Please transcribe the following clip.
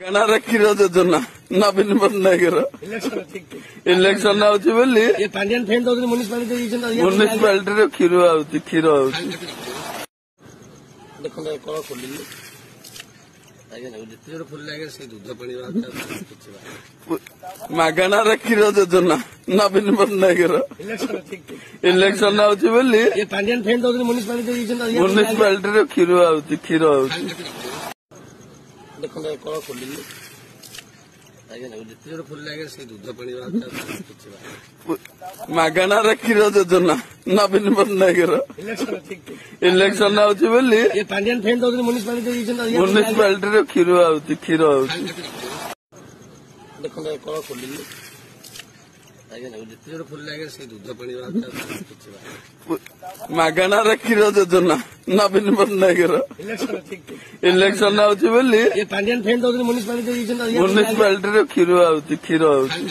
ମାଗଣାରେ କ୍ଷୀର ଯୋଜନା ନବୀନ ପଟ୍ଟନାୟକର। ଇଲେକ୍ସନ ଆଉଛି ବୋଲି ମ୍ୟୁନିସିପାଲିଟିରେ କ୍ଷୀର ଆଉଛି, କ୍ଷୀର ଆଉଛି। ଦେଖନ୍ତୁ, କଳ ଖୋଲିଲି ଆଜ୍ଞା, ଯେତେ ଜୋର ଖୋଲିଲେ ଆଜ୍ଞା ସେଇ ଦୁଧ ପାଣି। ମାଗଣାରେ କ୍ଷୀର ଯୋଜନା ନବୀନ ପଟ୍ଟନାୟକର। ଇଲେକ୍ସନ ଆଉଛି ବୋଲି ମ୍ୟୁନିସିପାଲିଟିରେ କ୍ଷୀର ଆଉଛି, କ୍ଷୀର ଆଉଛି। ଦେଖନ୍ତୁ, କଳ ଖୋଲିଲି ଆଜ୍ଞା, ଯେତେ ଜୋର ଖୋଲିଲେ ଆଜ୍ଞା ସେଇ ଦୁଧ ପାଣି। ମାଗଣାରେ କ୍ଷୀର ଯୋଜନା ନବୀନ ପଟ୍ଟନାୟକର। ଇଲେକ୍ସନ ଆଉଛି ବୋଲି ମ୍ୟୁନିସିପାଲିଟିରେ କ୍ଷୀର ଆଉଛି, କ୍ଷୀର ଆଉଛି। ଦେଖନ୍ତୁ, କଳ ଖୋଲିଲି ଆଜ୍ଞା, ଯେତେ ଜୋର ଖୋଲିଲେ ଆଜ୍ଞା ସେଇ ଦୁଧ ପାଣି। ମାଗଣାରେ କ୍ଷୀର ଯୋଜନା ନବୀନ ପଟ୍ଟନାୟକର। ଇଲେକ୍ସନ ଆଉଛି ବୋଲି ମ୍ୟୁନିସିପାଲିଟିରେ କ୍ଷୀର ଆଉଛି, କ୍ଷୀର ଆଉଛି।